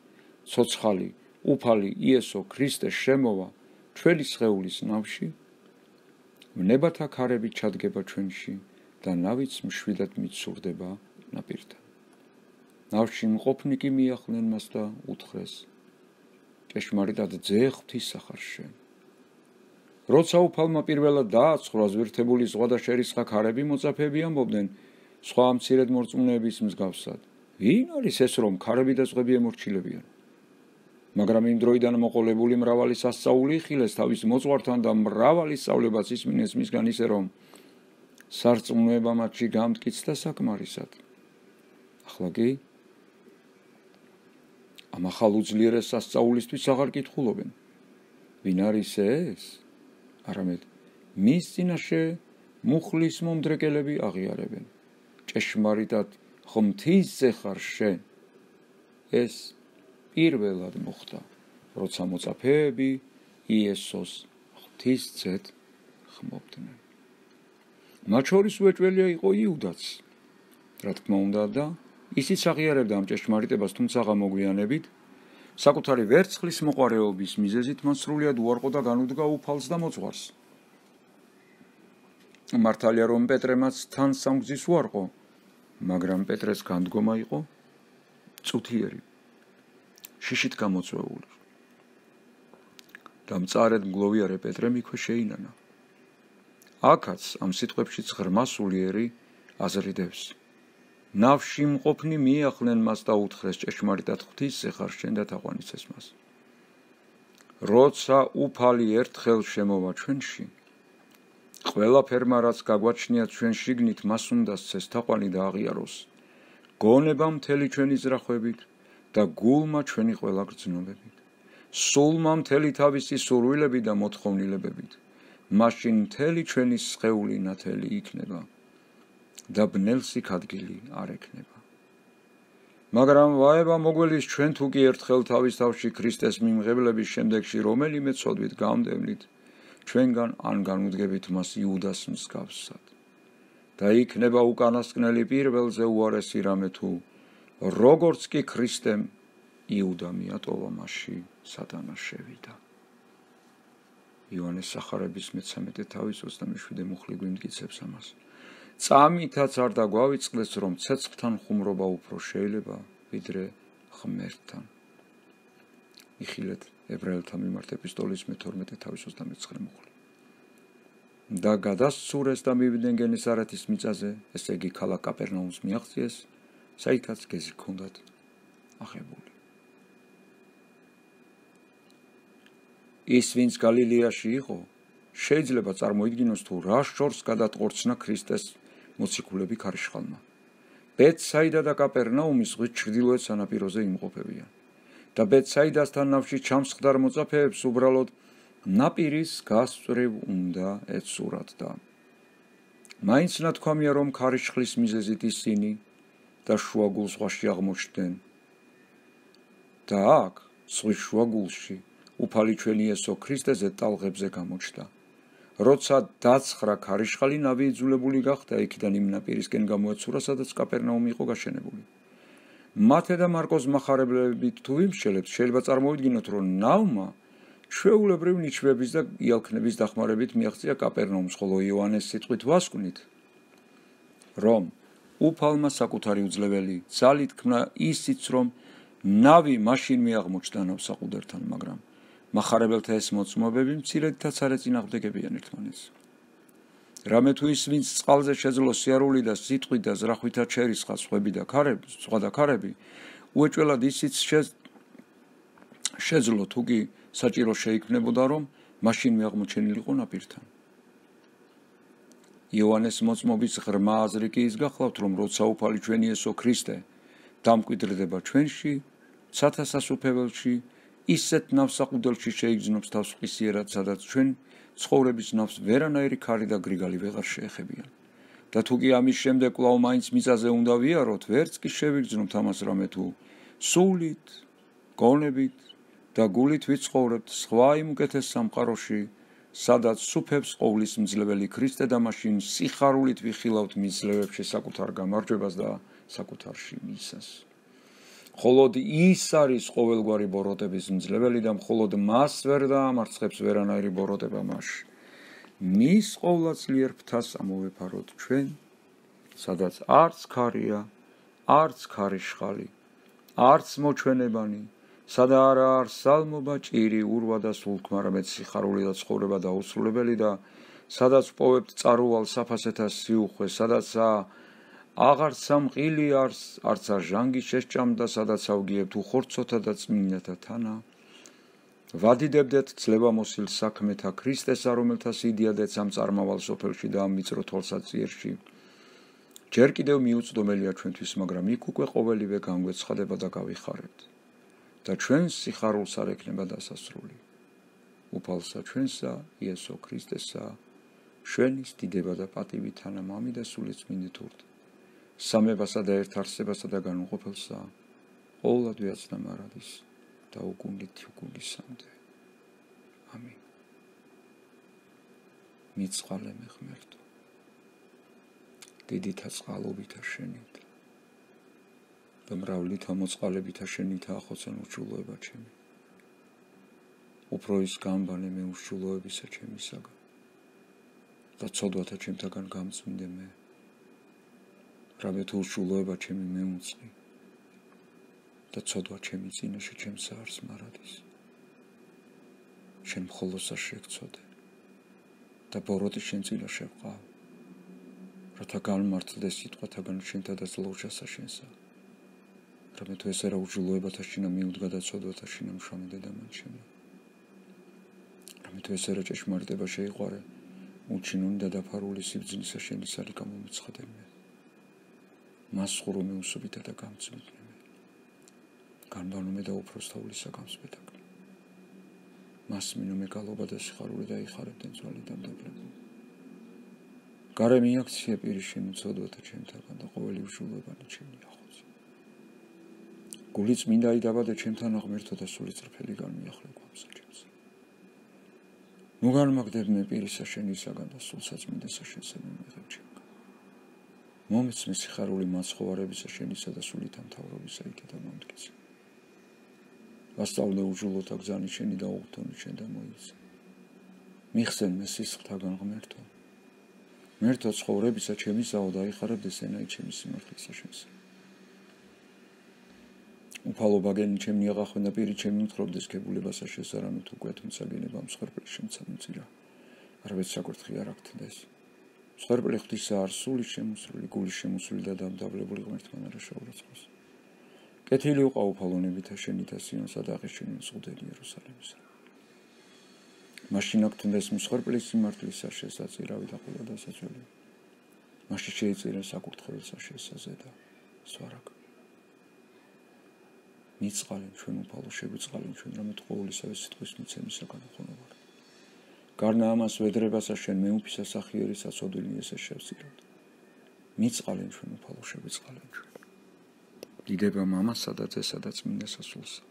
ცოცხალი უფალი იესო ქრისტე შემოვა ჩვენი სხეულის ნავში, ვნებათა ქარები ჩადგება ჩვენში და ნავიც მშვიდად მიცურდება ნაპირთან. ნავში მყოფნი კი მიახლნენ მას და უთხრეს, ჭეშმარიტად ძე ღვთისახარ შენ. როცა უფალმა პირველად დააცხრა ზვირთებული ზღვა და შერისხა ქარები, მოწაფეები ამბობდნენ სხვა მცირედ მორწმუნეების მსგავსად, ვინ არის ეს, რომ ქარები და ზღვები ემორჩილებიან? მაგრამ იმ დროიდან მოყოლებული მრავალი სასწაული იხილეს თავის მოძღვართან და მრავალი სწავლებაც ისმინეს მისგან, ისე რომ სარწმუნოება მათში გამტკიცდა საკმარისად. ახლა კი ამ ახალ უძლიერეს სასწაულისთვის აღარ კითხულობენ, ვინ არის ეს? არამედ მის წინაშე მუხლის მომდრეკელები აღიარებენ. ჭეშმარიტად ღვთისძე ხარ შენ. ეს პირველად მოხდა, როცა მოწაფეები იესოს ღვთისძედ ხმობდნენ. მათ შორის უეჭველია იყო იუდაც, რა თქმა უნდა, და ისიც აღიარებდა ამ ჭეშმარიტებას, თუმცა მოგვიანებით საკუთარი ვერცხლის მოყარეობის მიზეზით მან სრულიად უარყო და განუდგა უფალს და მოძღვარს. მართალია, რომ პეტრემაც თან სამგზის უარყო, მაგრამ პეტრეს განდგომა იყო წუთიერი შიშით გამოწვეული და მწარედ მგლოვიარე პეტრემ იქვე შეინანა. აქაც ამ სიტყვებშიც ღრმა სულიერი აზრი დევს. ნავში მყოფნი მიახლენ მას და უთხრეს ჭეშმარიტად ღვთისზე ხარ შენ და თაყვანიცეს მას. როცა უფალი ერთხელ შემოვა ჩვენში, ყველაფერმა რაც გაგვაჩნიათ ჩვენ შიგნით მას უნდა სცეს თაყვანი და აღიაროს, გონება მთელი ჩვენი ზრახვებით და გულმა ჩვენი ყველა გრძნობებით, სულმა მთელი თავისი სურვილებით და მოთხოვნილებებით, მაშინ მთელი ჩვენი სხეული ნათელი იქნება და ბნელსიქ ადგილი არ ექნება. მაგრამ ვაება მოგველის ჩვენ თუ კი ერთხელ თავის თავში ქრისტეს მიმღებლების შემდეგში რომელიმე ცოდვით გამდევნით ჩვენგან ან განუდგებით მას იუდას მსგავსად და იქნება უკანასკნელი პირველზე უარესი რამე თუ როგორც კი ქრისტემ იუდა მიატოვა მასში სატანა შევიდა. იოანეს სახარების მეთერთმეტე თავის ოცდამეშვიდე მუხლი გვიმტკიცებს ამას. წამითაც არ დაგვავიწყდეს რომ ცეცხლთან ხუმრობა უფრო შეიძლება ვიდრე ღმერთთან. იხილეთ ებრაელთა მიმართ ეპისტოლის მეთორმეტე თავის ოცდამეცხრე მუხლი. და გადასცურეს და მივიდნენ გენესარეთის მიწაზე, ესე იგი ქალაქ კაპერნაუმს მიაღწიეს, საიდანაც გეზი ჰქონდათ აღებული. ის ვინც გალილეაში იყო, შეიძლება წარმოიდგინოს თუ რა შორს გადატყორცნა ქრისტეს მოციქულები ქარიშხალმა. ბეთსაიდა და კაპერნაუმი ზღვის ჩრდილოეთ სანაპიროზე იმყოფებიან და ბეთსაიდასთან ნავში ჩამსხდარ მოწაფეებს უბრალოდ ნაპირის გასწვრივ უნდა ეცურათ და მაინც ნათქვამია რომ ქარიშხლის მიზეზით ისინი და შუაგულ ზღვაში აღმოჩნდნენ და აქ ზღვის შუაგულში უფალი ჩვენი იესო ქრისტეზე ტალღებზე გამოჩნდა. როცა დაცხრა ქარიშხალი ნავი იძულებული გახდა იქიდან იმ ნაპირისკენ გამოეცურა, სადაც კაპერნაუმი იყო გაშენებული. მათე და მარკოს მახარებლებით თუ ვიმსჯელებთ, შეიძლება წარმოვიდგინოთ, რომ ნავმა ჩვეულებრივ ნიჩბების და იალქნების დახმარებით მიაღწია კაპერნაუმს, ხოლო იოანეს სიტყვით ვასკვნით, რომ უფალმა საკუთარი უძლეველი ძალით ქმნა ისიც, რომ ნავი მაშინ მიაღმოჩნდა ნავსაყუდერთან, მაგრამ მახარებელთა ეს მოწმობები მცირედითაც არ ეწინააღმდეგებიან ერთმანეთს. რამე თუ ის ვინც წყალზე შეძლო სიარული და სიტყვით და ზრახვითაც შერისხა სხვები და ქარები, სხვა და ქარები, უეჭველად ისიც შეძლო თუ კი საჭირო შეიქმნებოდა, რომ მაშინ მიაღმოჩენილიყო ნაპირთან. იოანეს მოწმობის ღრმა აზრი კი ის გახლავთ, რომ როცა უფალი ჩვენი იესო ქრისტე დამკვიდრდება ჩვენში, ცათა სასუფეველში, ისეთ ნავსაყუდელში შეიგრძნობს თავს ყისიერად, სადაც ჩვენ ცხოვრების ნავს ვერანაირი ქარი და გრიგალი ვეღარ შეეხებიან. და თუ კი ამის შემდეგ კვლავ მაინც მიწაზე უნდა ვიაროთ, ვერც კი შევიგრძნობთ ამას რამე თუ სულით, გონებით და გულით ვიცხოვრებთ სხვა იმ უკეთეს სამყაროში, სადაც სუფევს ყოვლის მძლეველი ქრისტე და მაშინ სიხარულით ვიხილავთ მის ძლევებში საკუთარ გამარჯვებას და საკუთარში მისას. მხოლოდ ის არის ყოველგვარი ბოროტების მძლეველი და მხოლოდ მას ვერ დაამარცხებს ვერანაირი ბოროტება მასში. მის ყოვლადწლიერ ფრთას ამოვეფაროთ ჩვენ, სადაც არც ქარია, არც ქარიშხალი, არც მოჩვენებანი, სადა არა არ სალმობა, ჭირი, ურვა და სულთქმა, არამედ სიხარული და ცხოვრება დაუსრულებელი და სადაც პოვებთ წარუვალ საფასეთა სიუხვე, სადაც აღარცა მყილი არს, არცა ჟანგი შესჭამდა, სადაც ავგიებთ უხორცოთა და წმინდათა თანა. ვადიდებდეთ ძლევამოსილ საქმეთა ქრისტესა, რომელთა სიდიადეც ამ წარმავალ სოფელში და ამ ვიწრო თვალსაწიერში ჯერ კიდევ მიუწვდომელია ჩვენთვის, მაგრამ იქ უკვე ყოველივე განგვეცხადება და გავიხარებთ და ჩვენს სიხარულს არ ექნება დასასრული. უფალსა ჩვენსა, იესო ქრისტესა, ჩვენის დიდება და პატივი თანა მამი და სულიწმინდით ურთ, სამებასა და ერთ არსებასა და განუყოფელსა, ყოვლად ვეაცნა მარადის და უკუნდით უკუნდისამდე. ამინ. მიწყალე მე ღმერთო, დიდითა წყალობითა შენით და მრავლითა მოწყალებითა შენითა ახოცენ ურჩულოება ჩემი. უფრო ის გამბანე მე ურჩულოებისა ჩემისაგან და ცოდვათა ჩემთაგან გამწმინდე მე, რამე თუ ურჩულოება ჩემი მეუნწყი და ცოდვა ჩემი წინაშე ჩემს არს მარადის. შენ მხოლოსა შეგწოდე და ბოროტი შენ წინაშე ვყავ. რათა განმართლდეს სიტყვათაგან შენთა და ძლოვრჯასა შენსა. რამე თუ ესე რა უჯულოებათა შინა მიუდგა და ცოდვათა შინა მშრომი დედამან შენო. რამე თუ ესე რა ჭეშმარიტება შეიყვარე, უჩინონი და დაფარული სიბძნისა შენი სარი გამომეცხადენმე. მას ხურომე უსუბითა და გამწმიდნემე. განბანომე და უფროსთაულისა გამსპედაკლე. მას მინომე გალობა და სიხარული და იხარებდნენ ძვალი დამდაბლებული. გარე მიაქციე პირი შენი ცოდვათა ჩემთაგან და ყოველი უშულობანი ჩემი ახოც. გული წმინდა იდაბადე ჩემთან აღმერთო და სული წრფელი განმიახლე გვამსა ჩემს. ნუ განმაგდებმე პირისა შენისაგან და სულსაწმინდესა შენსა მიმეღებ ჩემგან. მომეცმე სიხარული მაცხოვარებისა შენისა და სულით ამთავრობისა იქეთა მომდგეცე. ვასწავლე უჯულოთა გზანი შენი და უღთონი შენ და მოიცე. მიხსენმე სისხლთაგან ღმერთო. მერთო ცხოვრებისა ჩემისაო და აიხარებდეს ენაი ჩემი სიმართლისა შენსა. უფალო ბაგენი ჩემი აღახვენა პირი ჩემი მთხრობდეს ქებულებასა შენსა რამე თუ გვია თუმცა გენება მსხვერპლი შემცა მიწირა. არვეთ საკურთხი არ აქთდეს. მსხვერპლი ღვთისა არ სული შემოსული გული შემოსული და დამდაბლებული ღმერთთან არა შეურაცხოს. კეთილი უყავ უფალონებითა შენითა სიონსა და აღეშენი მსხუდელი იერუსალიმისა. მაშინ აქთდეს მსხვერპლის სიმართლისა შესაწირავი და ყველა დასაძველი. მაშინ შეიწირა საკურთხეველსა შესაზე და სვარაგ. მიწყალენ ჩვენ უფალო შეგვიწყალენ ჩვენ რამე თუ ყოვლისავე სიტყვის მიცემისაგან ხონოვარ. გარნა ამას ვედრებასა შენ მეუფისა სახიერისა ცოდვილი ესე შევსირავთ. მიწყალენ ჩვენ უფალო შეგვიწყალენ ჩვენ. დიდება მამასა და ძესა და წმინდა სასულსა.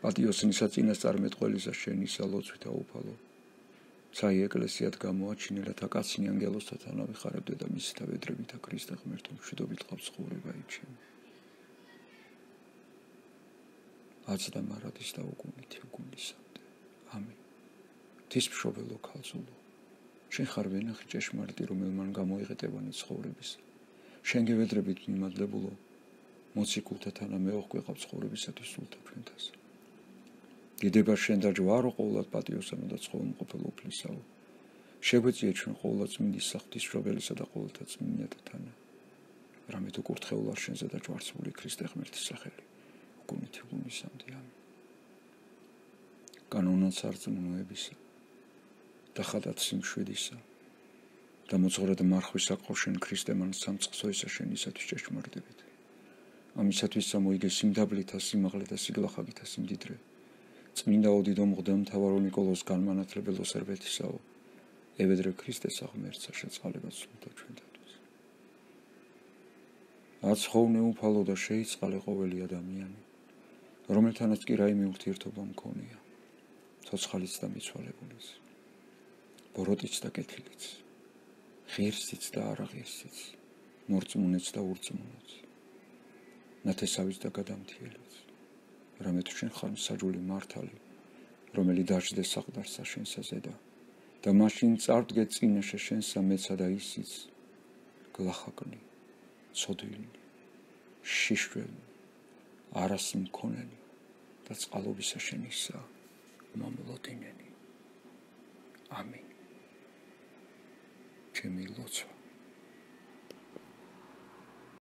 პატიოსნისა წინასწარმეტყველისა შენისა ლოცვითა უფალო. ცაი ეკლესიად გამოაჩინე რათა კაცნი ანგელოსთა თანავიხარებდე და მისთა ვედრებითა ქრისტე ღმერთო მშვიდობით ყავს ცხოვრება იჩენე. აც და მარადის და უგუნითი უგუნისამდე. ამინ. ღვთისმშობელო ქალწულო, შენ ხარ ვენახი ჭეშმარიტი, რომელმან გამოიღეტევანი ცხოვრებისა. შენ გევედრებით მიმადლებულო, მოციქულთა თანა მეოხ გვეყავ ცხოვრებისათვის სულთა ჩვენთას. დიდება შენ და ჯვარო ყოვლად პატიოსანო და ცხოლმყოფელო უფლისაო. შეგვეწიე ჩვენ ყოვლად წმინდისა ღვთისმშობელისა და ყოველთა წმინდათა თანა. რამე თუ კურთხეულ არ შენზე და ჯვარცმული ქრისტე ღმერთის სახელი. უგუნითი უგუნისამდე. ამინ. კანონად სარწმუნოებისა და ხადად სიმშვიდისა და მოძღვრად მარხვისა ყო შენ ქრისტემან სამწყსოისა შენისათვის ჭეშმარიტებით. ამისათვის გამოიგე სიმდაბლითა სიმაღლე და სიგლახაგითა სიმდიდრე. წმინდა ოდიდო მღვდელ მთავარო ნიკოლოზ განმანათლებელო სერბეთისაო. ევედრე ქრისტესა ღმერთსა შეწყალებას სულთა ჩვენთათვის. აცხოვნე უფალო და შეიწყალე ყოველი ადამიანი, რომელთანაც კი რაიმე ურთიერთობა მქონია. ცოცხალიც და მიცვალებულიც. ბოროტიც და კეთილიც. ღირსიც და არაღირსიც. მორწმუნეც და ურწმუნოც. ნათესავიც და გადამთიელიც. რამე თუ შენ ხარ მსაჯული მართალი, რომელი დაждდეს საყდარსა შენსა ზედა და მაშინ წარდგე წინაშე შენსა მეცა და ისიც გლახაკნი, ცოდვილი, შიშველი, არას მქონენი და წყალობისა შენისა მომლოდინენი. ამინ. ჩემი ლოცვა